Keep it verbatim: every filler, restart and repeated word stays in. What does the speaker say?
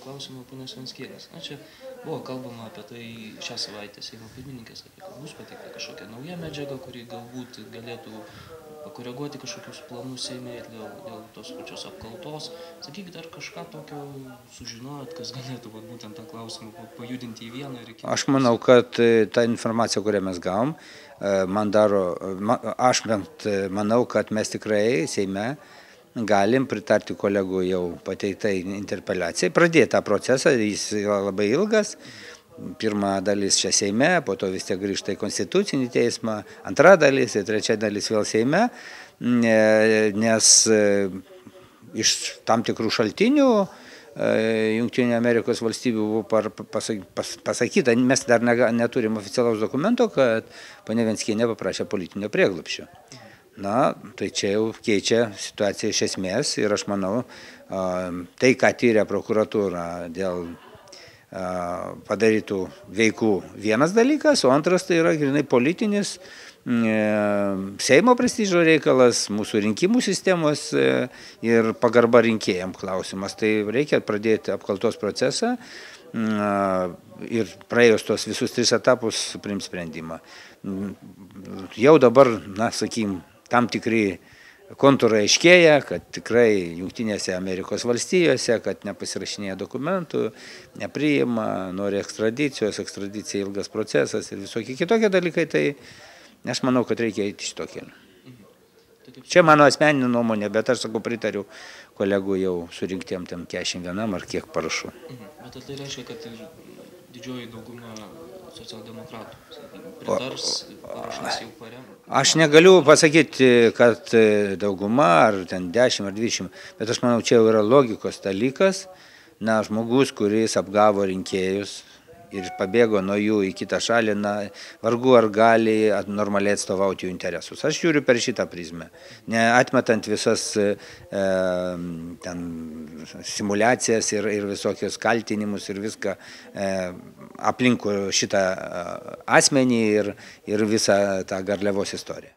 klausimo ponios Venckienės. Na, čia buvo kalbama apie tai šią savaitę Seimo pirmininkė sakė, kad bus pateikta kažkokia nauja medžiaga, kuri galbūt galėtų pakoreguoti kažkokius planus Seime ir dėl, dėl tos pačios apkaltos. Sakykit, ar kažką tokio sužinojot, kas galėtų vat, būtent tą klausimą pajudinti į vieną ir į kitą? Aš manau, kad ta informacija, kurią mes gavom, man daro, aš bent manau, kad mes tikrai Seime galim pritarti kolegų jau pateiktai interpeliacijai, pradėti tą procesą, jis yra labai ilgas. Pirma dalis čia Seime, po to vis tiek grįžta į Konstitucinį teismą, antra dalis ir trečia dalis vėl Seime, nes iš tam tikrų šaltinių Jungtinių Amerikos valstybių buvo pasakyta, mes dar neturim oficialaus dokumento, kad ponia Venckienė paprašė politinio prieglobsčio. Na, tai čia jau keičia situaciją iš esmės ir aš manau, tai, ką tyrė prokuratūra dėl padarytų veikų vienas dalykas, o antras tai yra grinai politinis Seimo prestižo reikalas, mūsų rinkimų sistemos ir pagarba rinkėjam klausimas. Tai reikia pradėti apkaltos procesą ir praėjus tos visus tris etapus priimt sprendimą. Jau dabar, na, sakykim, tam tikri kontūrai aiškėja, kad tikrai Jungtinėse Amerikos valstijose, kad nepasirašinėja dokumentų, nepriima, nori ekstradicijos, ekstradicija ilgas procesas ir visokie kitokie dalykai, tai aš manau, kad reikia eiti šito keliu. Čia mano asmeninė nuomonė, bet aš sakau, pritariu kolegų jau surinktiem tam keturiasdešimt vienam ar kiek parašų. Bet tai reiškia, kad ir didžioji dauguma socialdemokratų pritars, parašas jau paremė? Aš negaliu pasakyti, kad dauguma ar ten dešimt ar dvidešimt, bet aš manau, čia jau yra logikos dalykas. Na, žmogus, kuris apgavo rinkėjus ir pabėgo nuo jų į kitą šalį, na, vargu ar gali normaliai atstovauti jų interesus. Aš žiūriu per šitą prizmę, neatmetant visas e, ten, simulacijas ir, ir visokius kaltinimus ir viską e, aplinkų šitą asmenį ir, ir visą tą garliavos istoriją.